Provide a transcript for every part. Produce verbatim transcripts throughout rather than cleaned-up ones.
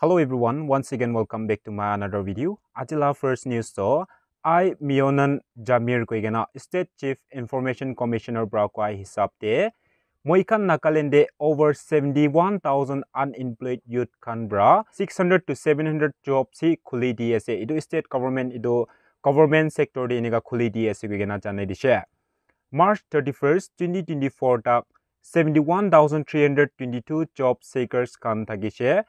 Hello everyone, once again welcome back to my another video. Aji la first news to I Mionan Jamir koi kena State Chief Information Commissioner pra koi hisab te moi khan Nagaland te over seventy-one thousand unemployed youth khan pra six hundred to seven hundred jobs hi khuli di ase. Itu state government, itu government sector te enika khuli di ase koi kena janai dishe. March thirty-first, twenty twenty-four tak seventy-one thousand three hundred twenty-two job seekers khan thakishe.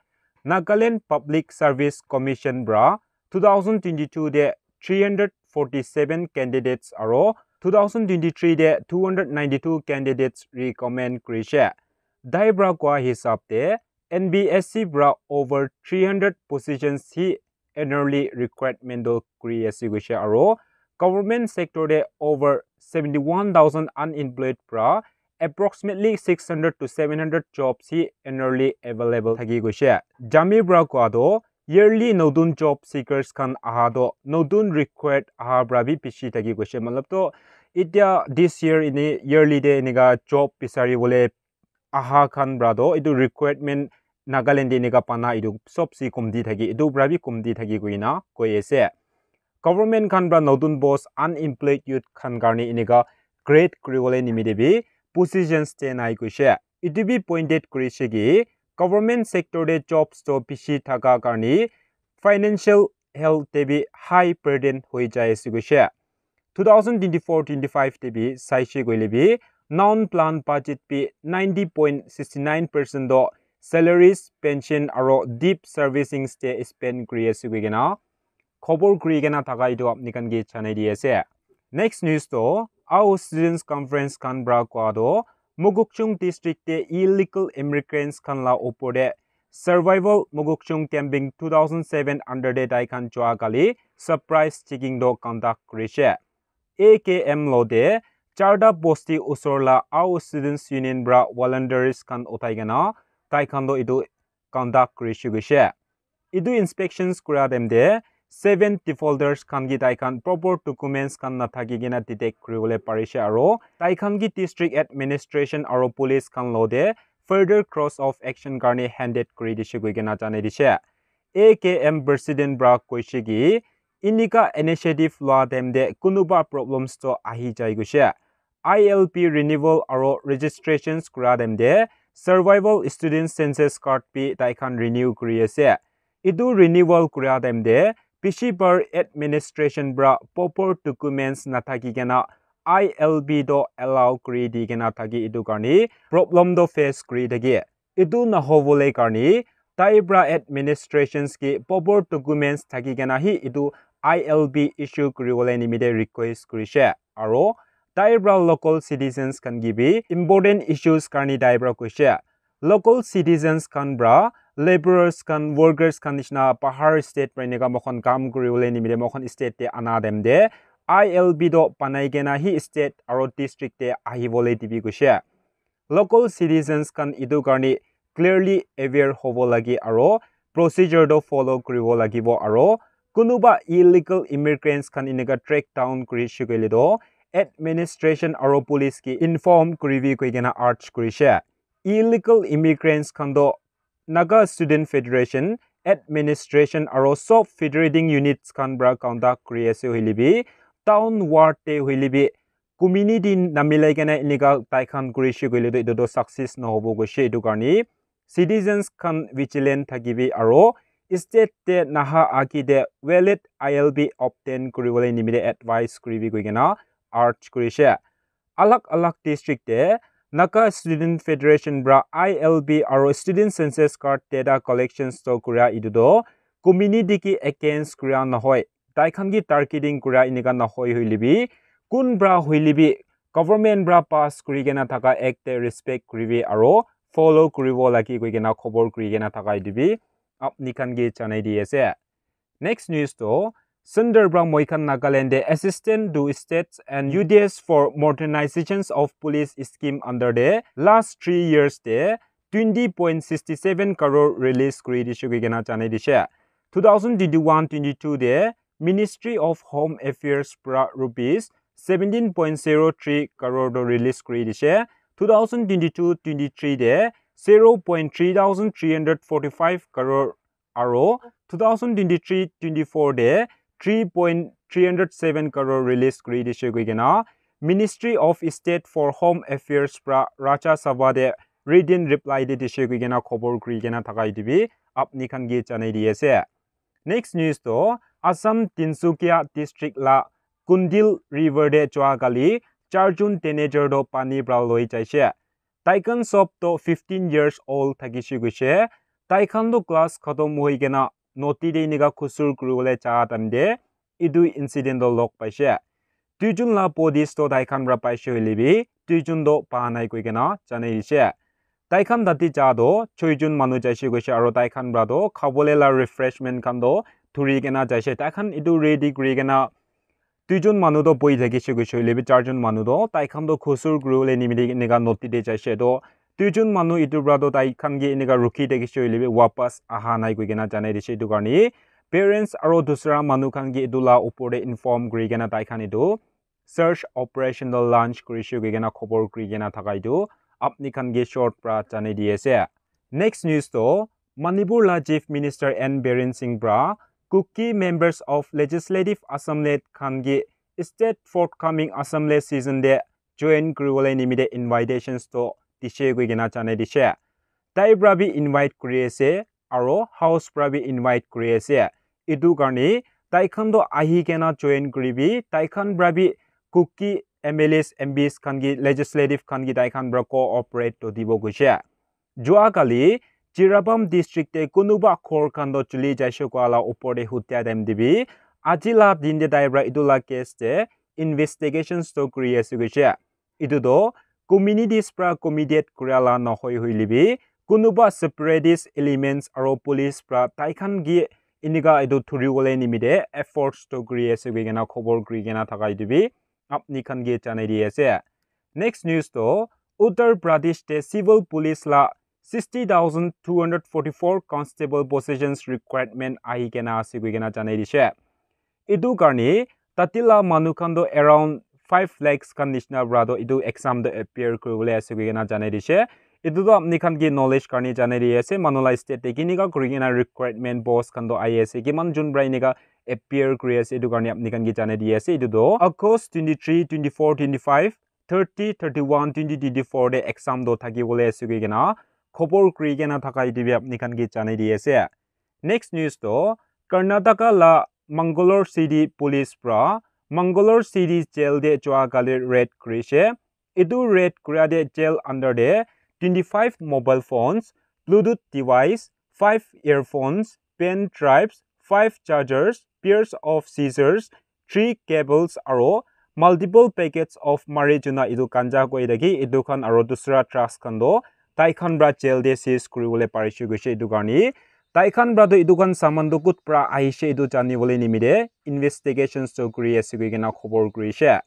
Nagaland Public Service Commission pra two thousand twenty-two te three hundred forty-seven candidates aro two thousand twenty-three te two hundred ninety-two candidates recommend kurishe. Tai pra koa hisab te N B S C pra over three hundred positions hi annually requirement to kuri ase koishe aro government sector te over seventy-one thousand unemployed pra approximately six hundred to seven hundred jobs hi annually available thaki koishe. Jamir pra koa to yearly notun job seekers khan aha to notun required aha pra bi bishi thaki koishe. Matlab to itya this year ini yearly te enika job bisari bole aha khan pra to itu requirement Nagaland te enika pana itu sob si kumti thaki, itu pra bi kumti thaki koina koi ase. Government khan pra notun post unemployed youth khan karne enika create kuribole nimite bi positions te nai koishe. Itu bi pointed kurishe ki government sector te jobs to bishi thaka karne financial health te bi high burden hoi jai ase koishe. Two thousand twenty-four twenty-five te bi saishe koile bi non plan budget bi ninety point sixty nine percent to salaries, pension aro debt servicing te spend kuri ase koi kena khobor kuri kena thaka itu apni khan ke janai di ase. Next news to Ao Students Conference khan pra koa to Mokokchung district te illegal immigrants khan la opor te Survival Mokokchung Camping two thousand seven under te tai khan jua kali surprise checking to conduct kurishe. A K M lo te charta bosti usor la Ao Students Union pra volunteers khan uthai kena tai khan to itu conduct kurishe koishe. Itu inspections kura time te seven defaulters khan ki tai khan proper documents khan nathaki kena detect kuribole parishe aro tai khan ki district administration aro police khan lo te further course of action karne handed kuri dishe koi kena janai dishe. A K M president pra koishe ki inika initiative lua time te kunuba problems to ahi jai koishe. I L P renewal aro registrations kura time te survival student census card bi tai khan renew kuri ase. Itu renewal kura time te bishi bar administration pra proper documents nathaki kena I L P to allow kuri di kena thaki itu karne problem to face kuri thaki. Itu nahobole karne tai pra administrations ki proper documents thaki kena hi itu I L P issue kuribole nimite request kurishe. Aro tai pra local citizens khan ki bi important issues karne tai pra koishe. Local citizens khan pra laborers khan, workers khan nishina bahar state pra enika moikhan kam kuribole nimite moikhan state te ana time te I L P to banai kena hi state aro district te ahibole dibi koishe. Local citizens khan itu karne clearly aware hobo lage aro procedure to follow kuribo lagibo aro kunuba illegal immigrants khan enika track down kurishe koile to administration aro police ki inform kuribi koi kena urge kurishe. Illegal immigrants khan to Naga Student Federation, administration aro sob federating units khan pra conduct kuri ase hoile bi town ward te hoile bi community namilai kena enika tai khan kurishe koile to etu to success nahobo koishe. Etu karne citizens khan vigilant thakibi aro state te naha agi te valid I L P obtain kuribole nimite advice kuribi koi kena urge kurishe. Alag alag district te Naga Student Federation pra I L P aro student census card data collections to kura etu to community ki against kura nahoi. Tai khan ki targeting kura enika nahoi hoile bi kun pra hoile bi government pra pass kuri kena thaka act te respect kuribi aro follow kuribo lage koi kena khobor kuri kena thaka etu bi apni khan ke janai di ase. Next news to Sundar pra moi khan Nagaland te Assistant to States and U D S for Modernizations of Police Scheme under te last three years te twenty point sixty seven crore release kuri dishe koi kena janai dishe. Two thousand twenty-one twenty-two te Ministry of Home Affairs pra rupees seventeen point zero three crore to release kuri dishe. Two thousand twenty-two twenty-three te zero point three thousand three hundred forty-five crore Aro two thousand twenty-three twenty-four de three point three hundred seven crore release kuri dishe koi kena Ministry of State for Home Affairs pra Rajya Sabha de written reply de dishe koi kena khobor kuri kena thaka etu bi apni khan ke janai di ase. Next news to Assam Tinsukia district la Kundil river de jua kali charjun teenager to pani pra loi jaishe. Taikhan sob to fifteen years old thakishe koishe. Taikhan to class khatom hoi kena noti de inika khusur kuribole ja time de etu incident to log paishe. Duijun la bodies to taikhan pra paishe hoile bi duijun to pa nai koi kena janai dishe. Taikhan tate ja to choijun manu jaishe koishe aro taikhan pra to khabole la refreshment khan to dhuri kena jaishe. Taikhan etu ready kuri kena duijun manu to boi thakishe koishe hoile bi charjun manu to taikhan to khusur kuribole nimite enika noti de jaishe to duijun manu etu pra to taikhan ke enika rukhi thakishe hoile bi wapas aha nai koi kena janai dishe. Etu karne parents aro dusra manu khan ke etu la upor de inform kuri kena taikhan etu search operation to launch kurishe koi kena khobor kuri kena thaka etu apni khan ke short pra janai di ase. Next news to Manipur la Chief Minister N Biren Singh pra Kuki members of Legislative Assembly khan ke state forthcoming assembly season de join kuribole nimite invitations to dishe koi kena janai dishe. Tai pra bi invite kuri ase aro house pra bi invite kuri ase. Etu karne taikhan to ahi kena join kuribi, taikhan pra bi Kuki M L As, M Ps khan ke, legislative khan ke taikhan pra cooperate to dibo koishe. Jua kali Jiribam district te kunuba ghor khan to chuli jaishe koa la upor de hutia time de bi aji la din de tai pra etu la case de investigations to kuri ase koishe. Etu to communities pra committed kura la nohoi hoile bi kunuba separatist elements aro police pra taikhan ke enika etu dhuribole nimite efforts to kuri ase koi kena khobor kuri kena thaka etu bi apni khan ke janai di ase. Next news to Uttar Pradesh te civil police la sixty thousand two hundred forty-four constable positions requirement ahi kena ase koi kena janai dishe. Etu karne tate la manu khan to around five lakhs khan nishina pra to etu exam to appear kuribole ase koi kena janai dishe. Etu to apni khan ke knowledge karne janai di ase manu la state te kinika kuri kena requirement post khan to ahi ase, kiman jun pra enika appear kuri ase, etu karne apni khan ke janai di ase. Etu to August twenty-three, twenty-four, twenty-five, thirty, thirty-one, twenty twenty-four de exam to thakibole ase koi kena khobor kuri kena thaka etu bi apni khan ke janai di ase. Next news to Karnataka la Mangalore City Police pra Mangalore City Jail de jua kali raid kurishe. Etu raid kura de jail under de twenty-five mobile phones, Bluetooth device, five earphones, pen drives, five chargers, pairs of scissors, three cables aro multiple packets of marijuana, etu ganja koi thaki etu khan aro dusra drugs khan to taikhan pra jail de seize kuribole parishe koishe. Etu karne taikhan pra to etu khan saman to kud pra ahishe etu janibole nimite investigations to kuri ase koi kena khobor kurishe.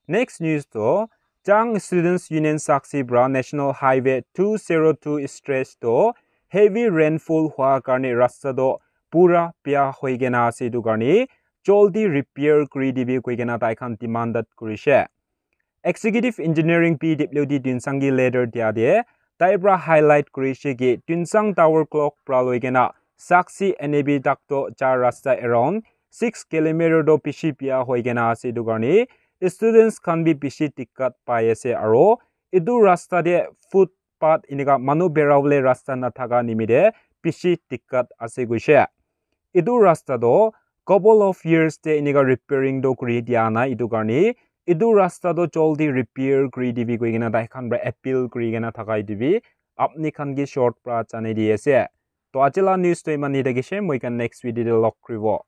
Next news to Chang Students Union Sakshi pra National Highway two zero two stretch to heavy rainfall hua karne rasta to pura bia hoi kena ase, etu karne joldi repair kuri dibi koi kena taikhan demand kurishe. Executive Engineering P W D Tuensang ke letter dia de tai pra highlight kurishe ki Tuensang Tower Clock pra loi kena Sakshi N A B tak to ja rasta around six kilometer to bishi bia hoi kena ase, etu karne students khan bi bishi dikkat pai ase aro etu rasta de footpath enika manu bera bole rasta nathaka nimite bishi dikkat ase koishe. Etu rasta to couple of years te enika repairing to kuri dia nai, etu karne etu rasta to joldi repair kuri dibi koi kena taikhan pra appeal kuri kena thaka etu bi apni khan ke short pra janai di ase. To aji la news to iman hi thakishe, moi khan next video te log kuribo.